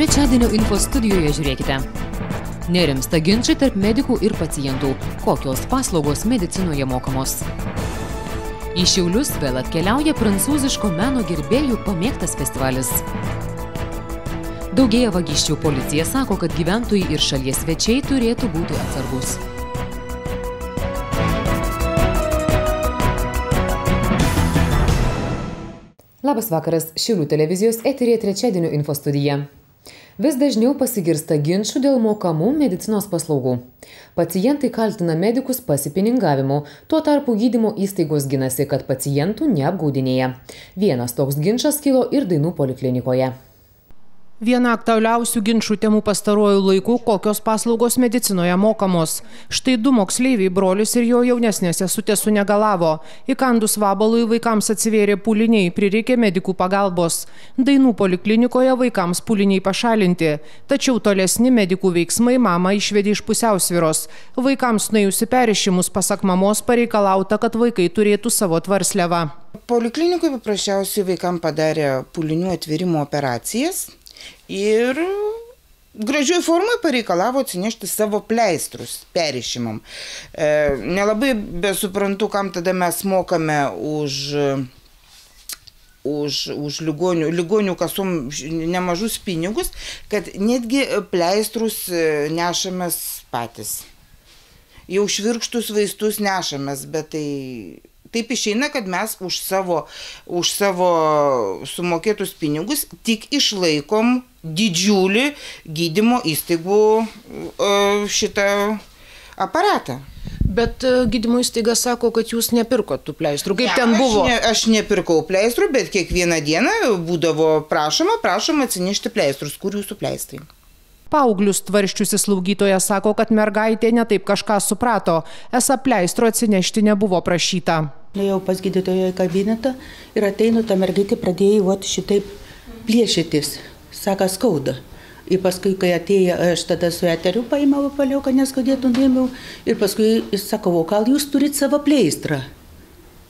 Trečiadienio info studijoje žiūrėkite. Nerimsta ginčai tarp medikų ir pacientų. Kokios paslaugos medicinoje mokamos? Į Šiaulius vėl atkeliauja prancūziško meno gerbėjų pamėgtas festivalis. Daugėja vagysčių, policija sako, kad gyventojai ir šalies svečiai turėtų būti atsargus. Labas vakaras, Šiaulių televizijos eteryje trečiadienio info studija. Vis dažniau pasigirsta ginčų dėl mokamų medicinos paslaugų. Pacientai kaltina medikus pasipiningavimu, tuo tarpu gydymo įstaigos ginasi, kad pacientų neapgaudinėja. Vienas toks ginčas kilo ir Dainų poliklinikoje. Viena aktualiausių ginčų temų pastaruoju laiku, kokios paslaugos medicinoje mokamos. Štai du moksleiviai, brolis ir jo jaunesnė sesutė sunegalavo. Įkandus vabalui vaikams atsivėrė pūliniai, prireikė medikų pagalbos. Dainų poliklinikoje vaikams pūliniai pašalinti. Tačiau tolesni medikų veiksmai mamą išvedė iš pusiausvyros. Vaikams nuėjusi perrišimus, pasak mamos, pareikalauta, kad vaikai turėtų savo tvarsliavą. Poliklinikoje paprasčiausiai vaikams padarė pūlinių atvėrimo operacijas. Ir gražioj formai pareikalavo atsinešti savo pleistrus perrišimam. Nelabai besuprantu, kam tada mes mokame už ligonių kasom nemažus pinigus, kad netgi pleistrus nešamės patys. Jau švirkštus vaistus nešamės, bet tai... Taip išeina, kad mes už savo sumokėtus pinigus tik išlaikom didžiulį gydymo įstaigų šitą aparatą. Bet gydymo įstaiga sako, kad jūs nepirkot tų pleistrų. Kaip ten buvo? Aš nepirkau pleistrų, bet kiekvieną dieną būdavo prašoma atsinešti pleistrus. Kur jūsų pleistrai? Paauglius tvarščiusi slaugytoja sako, kad mergaitė netaip kažką suprato. Esą pleistro atsinešti nebuvo prašyta. Nuėjau pas gydytoją į kabinetą ir ateinu, ta mergaitė pradėjo šitaip plėšytis. Saka, skauda. Ir paskui, kai atėjo, aš tada su eteriu paėmiau paliau, kad neskaudėtų, nuėmiau. Ir paskui jis sakau, gal jūs turit savo pleistrą?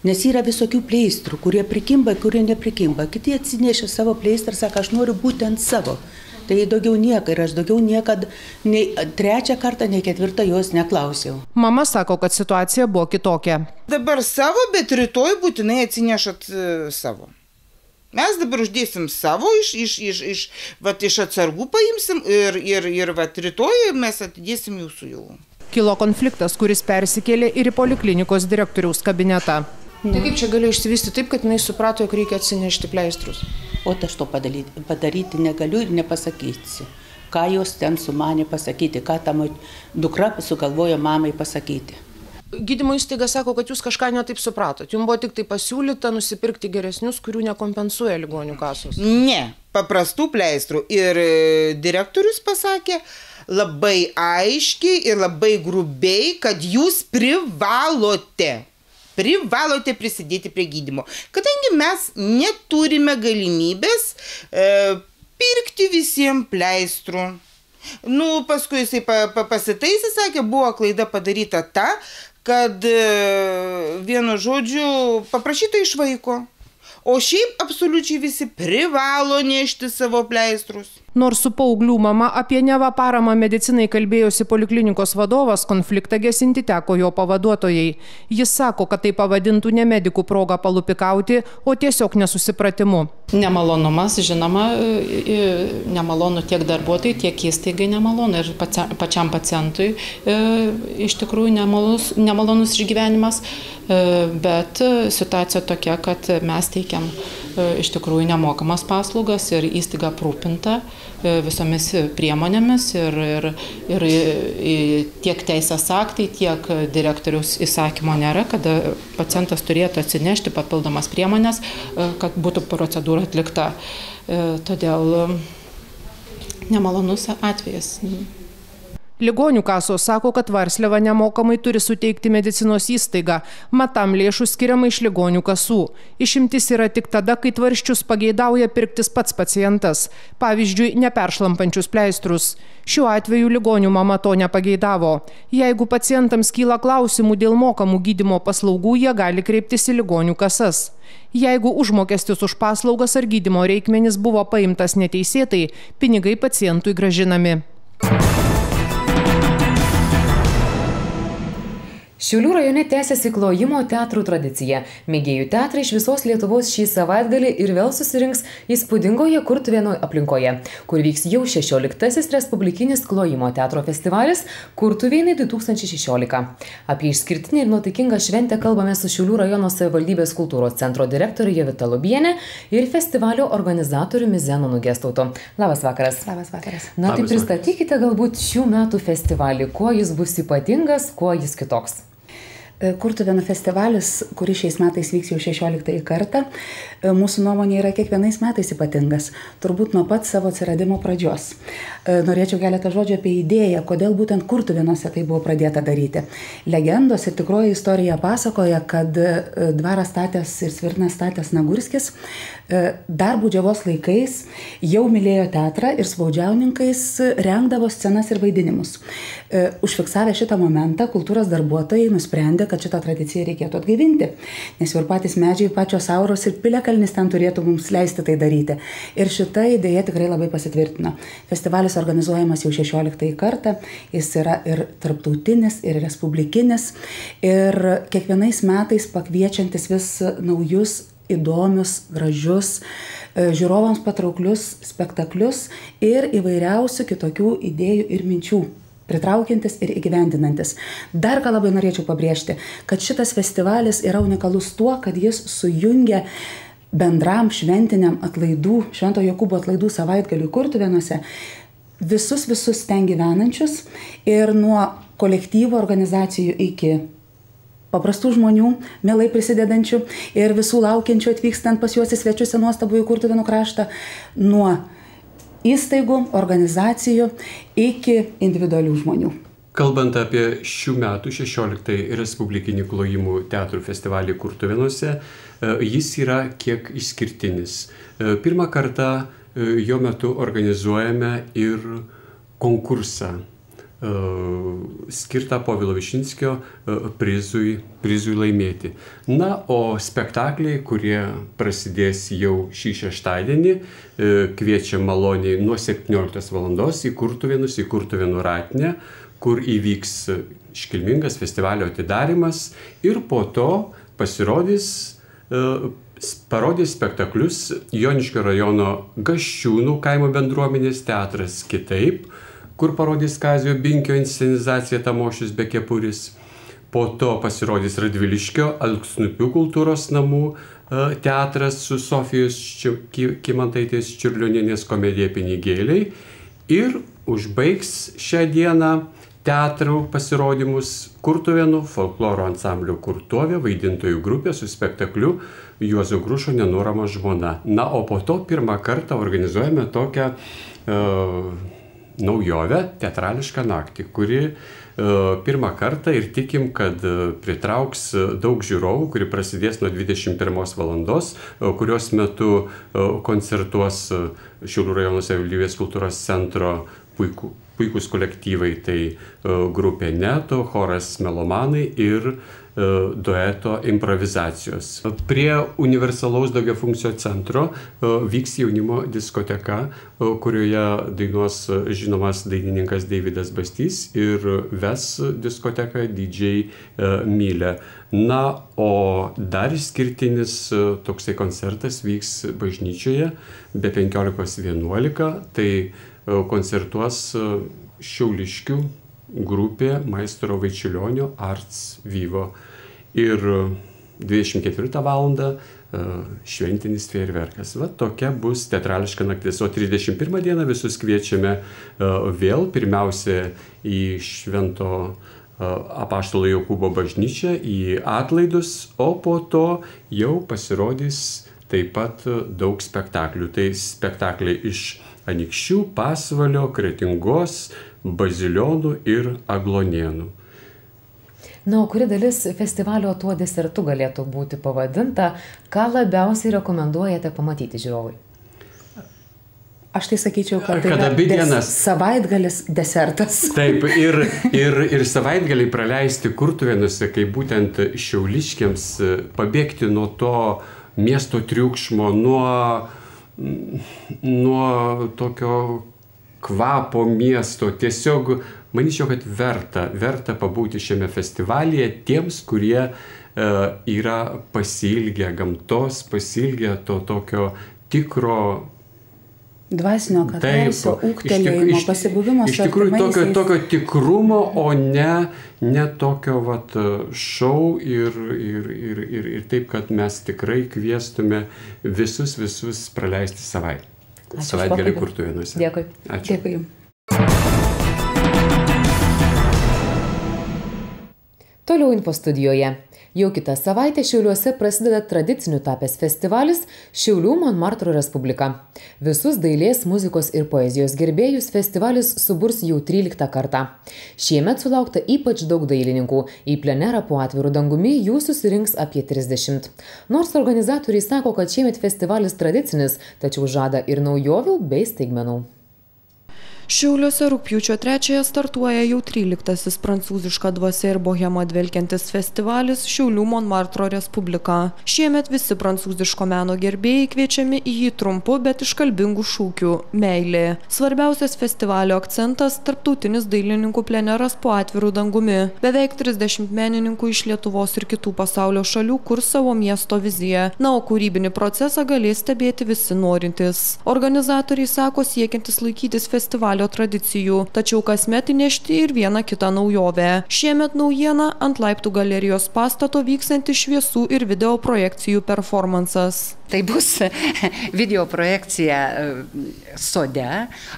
Nes yra visokių pleistrų, kurie prikimba, kurie neprikimba. Kiti atsinešė savo pleistrą, sako, aš noriu būtent savo. Tai daugiau nieko ir aš daugiau niekad nei trečią kartą, nei ketvirtą jos neklausiau. Mama sako, kad situacija buvo kitokia. Dabar savo, bet rytoj būtinai atsinešat savo. Mes dabar uždėsim savo, iš atsargų paimsim ir rytoj mes atidėsim jūsų jau. Kilo konfliktas, kuris persikėlė ir į poliklinikos direktoriaus kabinetą. Tai kaip čia gali išsivystyti taip, kad jinai suprato, jog reikia atsinešti pleistrus? O aš to padaryti negaliu ir nepasakysi. Ką jos ten sumanė pasakyti, ką ta dukra sugalvojo mamai pasakyti. Gydymo įstaiga sako, kad jūs kažką netaip supratot. Jums buvo tik tai pasiūlyta nusipirkti geresnius, kurių nekompensuoja ligonių kasos. Ne, paprastų pleistrų. Ir direktorius pasakė labai aiškiai ir labai grubiai, kad jūs privalote prisidėti prie gydymo. Kadangi mes neturime galimybės pirkti visiems pleistrų. Paskui jisai pasitaisė, sakė, buvo klaida padaryta ta, kad vienu žodžiu paprašyta iš vaiko. O šiaip absoliučiai visi privalo nešti savo pleistrus. Nors su paauglių mama apie neva paramą medicinai kalbėjosi poliklinikos vadovas, konfliktą gesinti teko jo pavaduotojai. Jis sako, kad tai pavadintų ne medikų progą palupikauti, o tiesiog nesusipratimu. Nemalonumas, žinoma, nemalonu tiek darbuotojai, tiek įstaigai nemalonu ir pačiam pacientui iš tikrųjų nemalonus išgyvenimas, bet situacija tokia, kad mes teikiam iš tikrųjų nemokamas paslaugas ir įstaiga aprūpinta visomis priemonėmis ir tiek teisės aktai, tiek direktoriaus įsakymo nėra, kada pacientas turėtų atsinešti papildomas priemonės, kad būtų procedūra atlikta. Todėl nemalonus atvejas. Ligonių kasos sako, kad Varsliava nemokamai turi suteikti medicinos įstaigą, mat tam lėšų skiriama iš ligonių kasų. Išimtis yra tik tada, kai tvarsčius pageidauja pirktis pats pacientas, pavyzdžiui, neperšlampančius pleistrus. Šiuo atveju ligonių mama to nepageidavo. Jeigu pacientams kyla klausimų dėl mokamų gydymo paslaugų, jie gali kreiptis į ligonių kasas. Jeigu užmokestis už paslaugas ar gydymo reikmenis buvo paimtas neteisėtai, pinigai pacientui gražinami. Šiaulių rajone tęsiasi klojimo teatrų tradicija. Mėgėjų teatrai iš visos Lietuvos šį savaitgalį ir vėl susirinks įspūdingoje Kurtuvėnų aplinkoje, kur vyks jau 16-asis Respublikinis klojimo teatro festivalis Kurtuvėnai 2016. Apie išskirtinę ir nuotaikingą šventę kalbame su Šiaulių rajono savivaldybės kultūros centro direktorė Jovita Lubienė ir festivalio organizatoriumi Zenonu Gestautu. Labas vakaras. Labas vakaras. Na tai pristatykite galbūt šių metų festivalį, kuo jis bus ypatingas, kuo jis kitoks. Kurtuvėnų festivalis, kuris šiais metais vyks jau 16 kartą, mūsų nuomonė yra kiekvienais metais ypatingas, turbūt nuo pat savo atsiradimo pradžios. Norėčiau keletą žodžių apie idėją, kodėl būtent Kurtuvėnuose tai buvo pradėta daryti. Legendos ir tikroji istorija pasakoja, kad dvarą statęs ir svirną statęs Nagurskis dar Būdžiavos laikais jau mylėjo teatrą ir spaudžiauninkais rengdavo scenas ir vaidinimus. Užfiksavę šitą momentą, kultūros darbuotojai nusprendė, kad šitą tradiciją reikėtų atgaivinti, nes ir patys medžiai, pačios auros ir piliakalnis ten turėtų mums leisti tai daryti. Ir šita idėja tikrai labai pasitvirtino. Festivalis organizuojamas jau 16 kartą, jis yra ir tarptautinis, ir respublikinis, ir kiekvienais metais pakviečiantis vis naujus, įdomius, gražius, žiūrovams patrauklius spektaklius ir įvairiausių kitokių idėjų ir minčių, pritraukiantis ir įgyvendinantis. Dar ką labai norėčiau pabrėžti, kad šitas festivalis yra unikalus tuo, kad jis sujungia bendram šventiniam atlaidų, Švento Jokūbo atlaidų savaitgaliui Kurtuvėnuose visus ten gyvenančius ir nuo kolektyvo organizacijų iki paprastų žmonių, mielai prisidedančių ir visų laukiančių atvykstant pas juos į svečius į nuostabųjį Kurtuvėnų kraštą, nuo įstaigų, organizacijų iki individualių žmonių. Kalbant apie šių metų 16 Respublikinį klojimų teatrų festivalį Kurtuvėnuose, jis yra kiek išskirtinis. Pirmą kartą jo metu organizuojame ir konkursą skirtą Povilo Višinskio prizui laimėti. Na, o spektakliai, kurie prasidės jau šį šeštadienį, kviečia maloniai nuo 17 valandos į Kurtuvėnus, į Kurtuvėnų ratinę, kur įvyks iškilmingas festivalio atidarymas ir po to parodys spektaklius Joniškio rajono Gasčiūnų kaimo bendruomenės teatras Kitaip, kur parodys Kazio Binkio inscenizacija Tamošius be kepurės. Po to pasirodys Radviliškio Alksnupių kultūros namų teatras su Sofijos Kymantaitės Čiurlionienės komedija Pinigėliai. Ir užbaigs šią dieną teatrų pasirodymus Kurtuvėnų folkloro ansamblio Kurtuovė vaidintojų grupė su spektakliu Juozo Grušo Nenuorama žmona. Na, o po to pirmą kartą organizuojame tokią naujovę, teatrališką naktį, kuri pirmą kartą ir tikim, kad pritrauks daug žiūrovų, kuri prasidės nuo 21 valandos, kurios metu koncertuos Šiaulių rajono savivaldybės kultūros centro puikūs kolektyvai, tai grupė Neto, choras Melomanai ir dueto improvizacijos. Prie universalaus daugiafunkcio centro vyks jaunimo diskoteka, kurioje dainuos žinomas dainininkas Deividas Bastys ir ves diskoteką DJ Mylė. Na, o dar išskirtinis toksai koncertas vyks bažnyčioje be 15:11, tai koncertuos šiauliškių grupė Maestro Vaičiulionio Arts Vivo. Ir 24 valandą šventinis fejerverkas. Va, tokia bus teatrališka naktis. O 31 dieną visus kviečiame vėl pirmiausia į Švento Apaštalo Jokūbo bažnyčią, į atlaidus, o po to jau pasirodys taip pat daug spektaklių. Tai spektakliai iš Anykščių, Pasvalio, Kretingos, Bazilionų ir Aglonėnų. Na, o kuri dalis festivalio tuo desertu galėtų būti pavadinta, ką labiausiai rekomenduojate pamatyti žiūrovui? Aš tai sakyčiau, kad Kad abi dienas. Savaitgalis desertas. Taip, ir savaitgaliai praleisti Kurtuvėnuose, kai būtent šiauliškiams pabėgti nuo to miesto triukšmo, nuo tokio kvapo miesto. Tiesiog manyčiau, kad verta pabūti šiame festivalyje tiems, kurie yra pasiilgę gamtos, pasiilgę to tokio tikro Dvasinio katarsio, ūgtelėjimo, pasibuvimo su artimaisiais. Iš tikrųjų tokio tikrumo, o ne tokio šou ir taip, kad mes tikrai kviestume visus praleisti savaitgalį Kurtuvėnuose. Dėkui. Ačiū. Dėkui jums. Toliau info studijoje. Jau kitą savaitę Šiauliuose prasideda tradiciniu tapęs festivalis Šiaulių Monmartro Respublika. Visus dailės, muzikos ir poezijos gerbėjus festivalis suburs jau 13 kartą. Šiemet sulaukta ypač daug dailininkų. Į plenerą po atviru dangumi jų susirinks apie 30. Nors organizatoriai sako, kad šiemet festivalis tradicinis, tačiau žada ir naujovių bei staigmenų. Šiauliuose rugpjūčio 3 startuoja jau 13-asis prancūziška dvasia ir bohema dvelkiantis festivalis Šiaulių Monmartro Respublika. Šiemet visi prancūziško meno gerbėjai kviečiami į jį trumpu, bet iškalbingų šūkių – meilė. Svarbiausias festivalio akcentas – tarptautinis dailininkų pleneras po atviru dangumi. Beveik 30 menininkų iš Lietuvos ir kitų pasaulio šalių kurs savo miesto viziją. Na, o kūrybinį procesą galės stebėti visi norintys. Organizatoriai sako siekiantis laikytis festivalio tradicijų, tačiau kasmet įnešti ir vieną kitą naujovę. Šiemet naujiena ant Laiptų galerijos pastato vykstanti šviesų ir video projekcijų performansas. Tai bus video projekcija sode,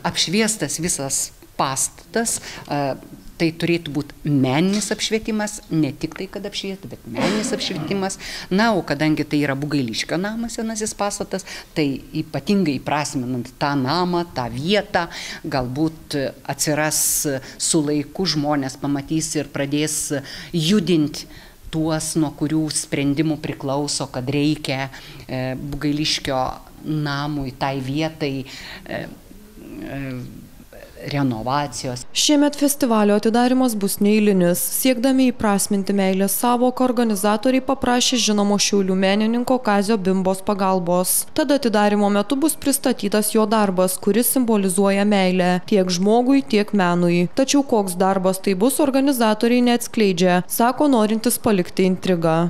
apšviestas visas pastatas. Tai turėtų būti meninis apšvietimas, ne tik tai, kad apšviesti, bet meninis apšvietimas. Na, o kadangi tai yra Bugailiškio namas, senasis pastatas, tai ypatingai įprasminant tą namą, tą vietą, galbūt atsiras su laiku žmonės pamatys ir pradės judinti tuos, nuo kurių sprendimų priklauso, kad reikia Bugailiškio namui, tai vietai renovacijos. Šiemet festivalio atidarimas bus neeilinis. Siekdami įprasminti meilės savoką, organizatoriai paprašė žinomo Šiaulių menininko Kazio Bimbos pagalbos. Tada atidarimo metu bus pristatytas jo darbas, kuris simbolizuoja meilę tiek žmogui, tiek menui. Tačiau koks darbas tai bus, organizatoriai neatskleidžia, sako norintis palikti intrigą.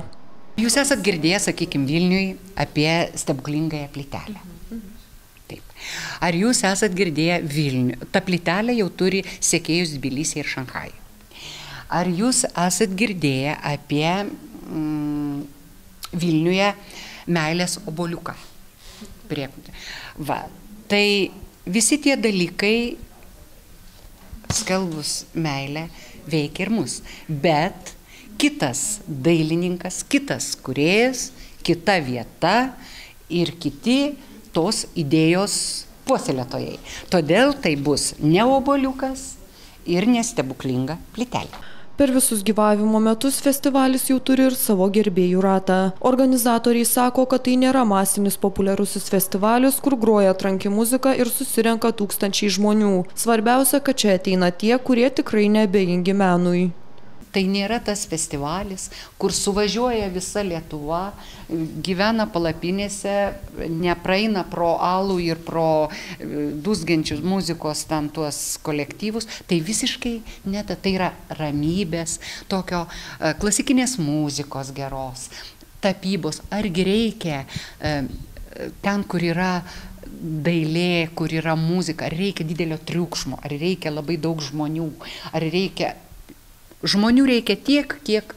Jūs esat girdėję, sakykime, Vilniui apie stebuklingąją plytelę. Ar jūs esat girdėję Vilnių? Ta plytelė jau turi sekėjus Tbilisyje ir Šanchajuje. Ar jūs esat girdėję apie Vilniuje meilės obuoliuką? Va, tai visi tie dalykai, skelbus meilę, veikia ir mus. Bet kitas dailininkas, kitas kūrėjas, kita vieta ir kiti tos idėjos puoselėtojai. Todėl tai bus ne obuoliukas ir ne stebuklinga plytelė. Per visus gyvavimo metus festivalis jau turi ir savo gerbėjų ratą. Organizatoriai sako, kad tai nėra masinis populiarusis festivalis, kur groja tranki muzika ir susirenka tūkstančiai žmonių. Svarbiausia, kad čia ateina tie, kurie tikrai neabejingi menui. Tai nėra tas festivalis, kur suvažiuoja visa Lietuva, gyvena palapinėse, nepraeina pro alų ir pro dūzgiančius muzikos ten tuos kolektyvus. Tai visiškai ne, tai yra ramybės, tokio klasikinės muzikos geros, tapybos. Argi reikia ten, kur yra dailė, kur yra muzika, ar reikia didelio triukšmo, ar reikia labai daug žmonių, ar reikia... Žmonių reikia tiek, kiek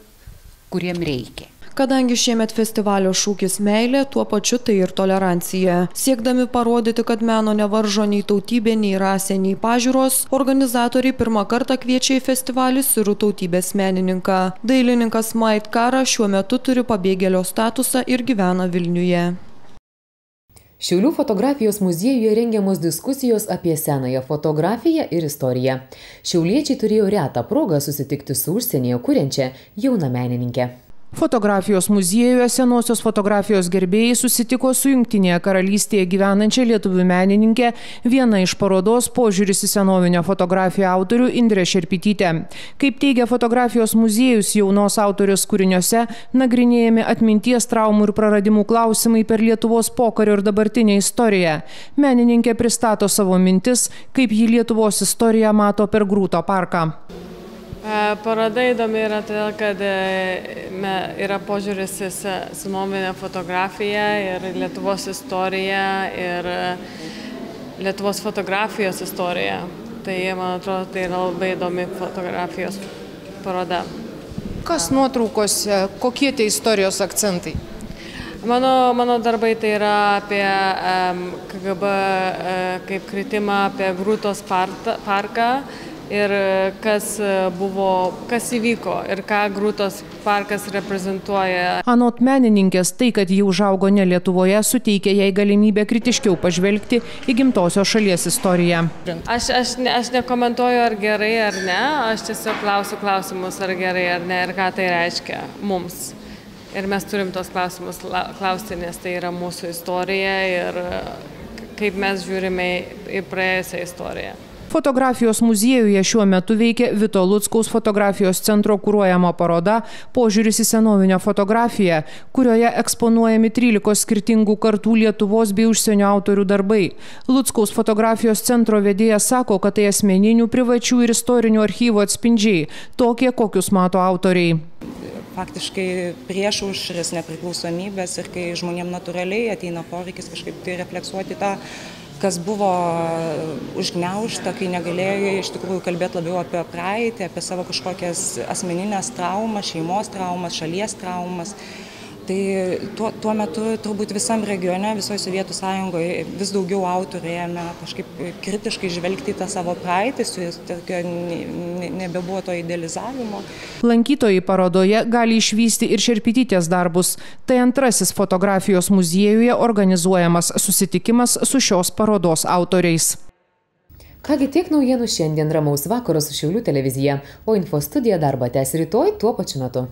kuriem reikia. Kadangi šiemet festivalio šūkis meilė, tuo pačiu tai ir tolerancija. Siekdami parodyti, kad meno nevaržo nei tautybė, nei rasė, nei pažiūros, organizatoriai pirmą kartą kviečia į festivalį sirų tautybės menininką. Dailininkas Mait Kara šiuo metu turi pabėgėlio statusą ir gyvena Vilniuje. Šiaulių fotografijos muziejuje rengiamos diskusijos apie senąją fotografiją ir istoriją. Šiauliečiai turėjo retą progą susitikti su užsienyje kuriančia jauna menininkė. Fotografijos muziejuje senosios fotografijos gerbėjai susitiko su Jungtinėje karalystėje gyvenančia lietuvių menininkė, viena iš parodos Požiūris į senovinę fotografiją autorių Indrė Šerpytytė. Kaip teigia fotografijos muziejus, jaunos autorios kūriniuose nagrinėjami atminties, traumų ir praradimų klausimai per Lietuvos pokario ir dabartinę istoriją. Menininkė pristato savo mintis, kaip ji Lietuvos istoriją mato per Grūto parką. Paroda įdomi yra todėl, kad yra požiūris į senovinę fotografiją ir Lietuvos istoriją ir Lietuvos fotografijos istoriją. Tai, man atrodo, tai yra labai įdomi fotografijos paroda. Kas nuotraukose, kokie tie istorijos akcentai? Mano darbai tai yra apie KGB kaip kritimą, apie Grūtos parką. Ir kas įvyko ir ką Grūtos parkas reprezentuoja. Anot menininkės, tai, kad ji užaugo ne Lietuvoje, suteikia jai galimybę kritiškiau pažvelgti į gimtosios šalies istoriją. Aš nekomentuoju, ar gerai ar ne, aš tiesiog klausiu klausimus, ar gerai ar ne, ir ką tai reiškia mums. Ir mes turim tos klausimus klausti, nes tai yra mūsų istorija ir kaip mes žiūrime į praėjusią istoriją. Fotografijos muziejuje šiuo metu veikia Vito Luckaus fotografijos centro kuruojama paroda Požiūris į senovinę fotografiją, kurioje eksponuojami 13 skirtingų kartų Lietuvos bei užsienio autorių darbai. Luckaus fotografijos centro vedėjas sako, kad tai asmeninių, privačių ir istorinių archyvų atspindžiai, tokie, kokius mato autoriai. Faktiškai prieš aušros nepriklausomybės ir kai žmonėm natūraliai ateina poreikis kažkaip tai refleksuoti tą, kas buvo užgniaužta, kai negalėjo iš tikrųjų kalbėti labiau apie praeitį, apie savo kažkokias asmeninės traumas, šeimos traumas, šalies traumas. Tai tuo metu turbūt visam regione, visoje Sovietų sąjungoje vis daugiau autorių ėmė kažkaip kritiškai žvelgti tą savo praeitį, nebebuvo to idealizavimo. Lankytojai parodoje gali išvysti ir Šerpytytės darbus. Tai antrasis fotografijos muziejuje organizuojamas susitikimas su šios parodos autoriais. Kągi tiek naujienų šiandien, ramaus vakaro su Šiaulių televizija, o Infostudija darbą tęs rytoj tuo pačiu metu.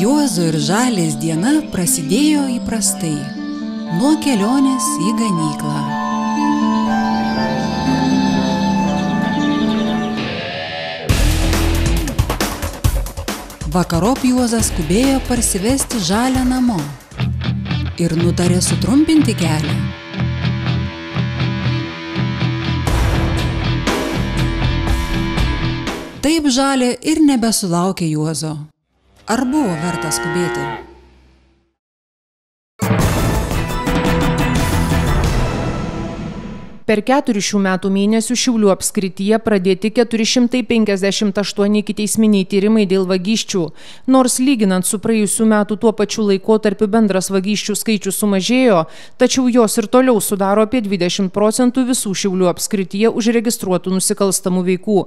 Juozo ir Žalės diena prasidėjo įprastai, nuo kelionės į ganyklą. Vakarop Juozas skubėjo parsivesti Žalę namo ir nutarė sutrumpinti kelią. Taip Žalė ir nebesulaukė Juozo. Ar buvo verta skubėti? Per 4 šių metų mėnesių Šiaulių apskrityje pradėti 458 ikiteisminiai tyrimai dėl vagysčių. Nors lyginant su praėjusių metų tuo pačiu laikotarpiu bendras vagysčių skaičius sumažėjo, tačiau jos ir toliau sudaro apie 20% visų Šiaulių apskrityje užregistruotų nusikalstamų veikų.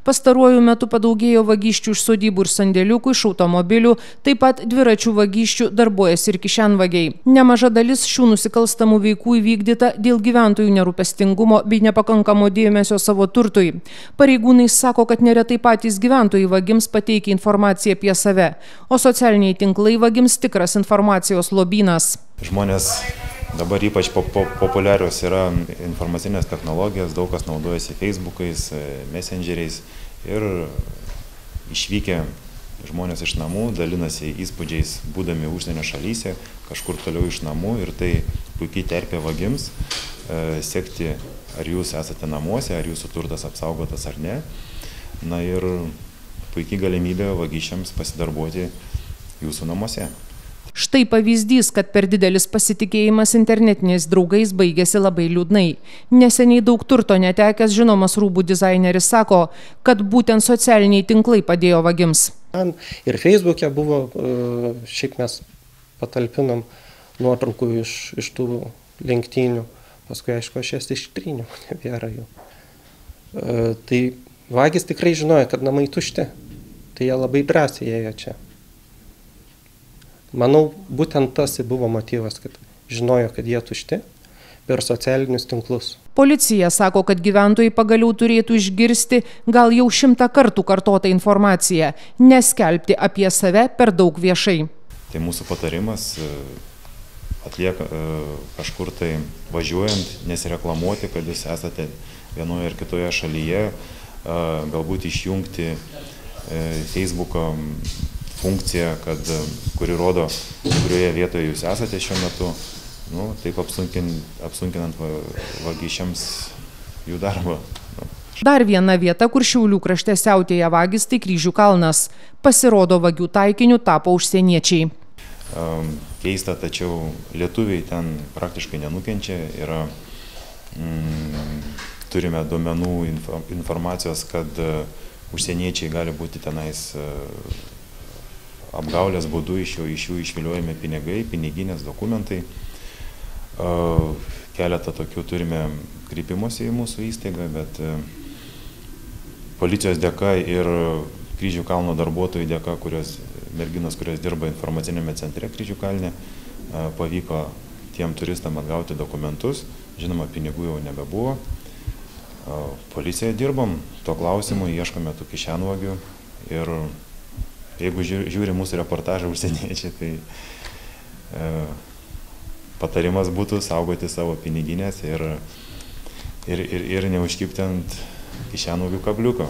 Pastaruoju metu padaugėjo vagysčių iš sodybų ir sandėliukų, iš automobilių, taip pat dviračių vagysčių darbuojasi ir kišenvagiai. Nemaža dalis šių nusikalstamų veikų įvykdyta dėl gyventojų nerūpestingumo bei nepakankamo dėmesio savo turtui. Pareigūnai sako, kad neretai patys gyventojai vagims pateikia informaciją apie save, o socialiniai tinklai vagims tikras informacijos lobynas. Žmonės dabar ypač populiarios yra informacinės technologijos, daug kas naudojasi Facebookais, Messengeriais ir išvykę žmonės iš namų dalinasi įspūdžiais, būdami užsienio šalyse, kažkur toliau iš namų, ir tai puikiai terpė vagims sekti, ar jūs esate namuose, ar jūsų turtas apsaugotas ar ne. Na ir puikiai galimybė vagysčiams pasidarbuoti jūsų namuose. Štai pavyzdys, kad per didelis pasitikėjimas internetiniais draugais baigėsi labai liūdnai. Neseniai daug turto netekęs žinomas rūbų dizaineris sako, kad būtent socialiniai tinklai padėjo vagims. Ir Facebook'e buvo, šiaip mes patalpinom nuotraukų iš tų lenktynių. Paskui, aišku, aš jas ištryniau, nebėra jų. Tai Vagys tikrai žinojo, kad namai tušti, tai jie labai drąsiai ėjo čia. Manau, būtent tas buvo motyvas, kad žinojo, kad jie tušti per socialinius tinklus. Policija sako, kad gyventojai pagaliau turėtų išgirsti gal jau 100 kartų kartotą informaciją, neskelbti apie save per daug viešai. Tai mūsų patarimas atlieka kažkur tai važiuojant, nesireklamuoti, kad jūs esate vienoje ar kitoje šalyje, galbūt išjungti Facebook'o funkciją, kuri rodo, kurioje vietoje jūs esate šiuo metu, taip apsunkinant vagysčiams jų darbą. Dar viena vieta, kur Šiaulių krašte siautėja vagys, tai Kryžių kalnas. Pasirodo, vagių taikiniu tapo užsieniečiai. Keista, tačiau lietuviai ten praktiškai nenukenčia. Turime duomenų informacijos, kad užsieniečiai gali būti tenais apgaulės būdu, iš jų išviliojami pinigai, piniginės dokumentai. Keletą tokių turime kreipimosi į mūsų įstaigą, bet policijos dėka ir Kryžių kalno darbuotojų dėka, merginos, kurios dirba informacinėme centre Kryžių kalne, pavyko tiem turistam atgauti dokumentus. Žinoma, pinigų jau nebebuvo. Policijoje dirbam, to klausimu ieškome tų kišenvagių ir jeigu žiūri mūsų reportažą užsieniečiai, tai patarimas būtų saugoti savo piniginės ir neužkibti ant kišenvagių kabliuko.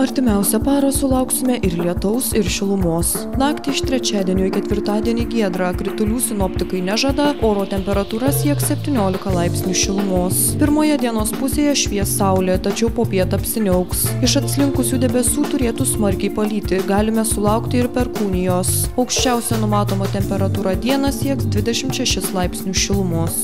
Artimiausią parą sulauksime ir lietaus, ir šilumos. Naktį iš trečiadienio į ketvirtadienį giedra, kritulių sinoptikai nežada, oro temperatūra sieks 17 laipsnių šilumos. Pirmoje dienos pusėje švies saulė, tačiau popiet apsiniauks. Iš atslinkusių debesų turėtų smarkiai palyti, galime sulaukti ir perkūnijos. Aukščiausia numatoma temperatūra dieną sieks 26 laipsnių šilumos.